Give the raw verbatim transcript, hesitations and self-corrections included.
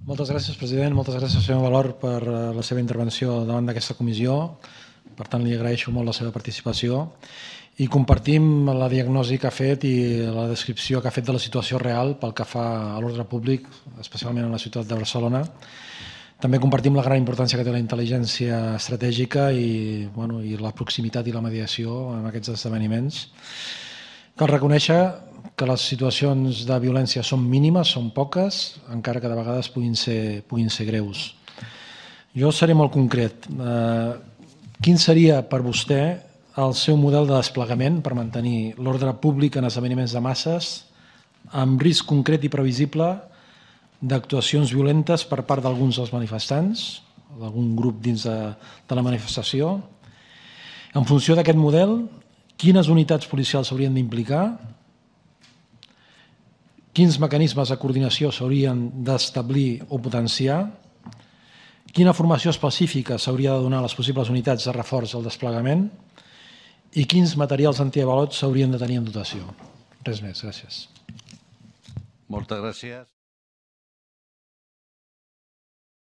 Moltes gràcies, president. Moltes gràcies, senyor Valor, per la seva intervenció davant d'aquesta comissió. Per tant, li agraeixo molt la seva participació i compartim la diagnosi que ha fet i la descripció que ha fet de la situació real pel que fa a l'ordre públic, especialment a la ciutat de Barcelona. També compartim la gran importància que té la intel·ligència estratègica i, bueno, i la proximitat i la mediació en aquests esdeveniments. Cal reconèixer que les situacions de violència són mínimes, són poques, encara que de vegades puguin ser, puguin ser greus. Jo seré molt concret. Eh, quin seria per vostè el seu model de desplegament per mantenir l'ordre públic en esdeveniments de masses amb risc concret i previsible d'actuacions violentes per part d'alguns dels manifestants, d'algun grup dins de, de la manifestació? En funció d'aquest model, quines unitats policials s'haurien d'implicar? Quins mecanismes de coordinació s'haurien d'establir o potenciar? Quina formació específica s'hauria de donar a les possibles unitats de reforç al desplegament? I quins materials antiavalots s'haurien de tenir en dotació? Res més, gràcies. Moltes gràcies.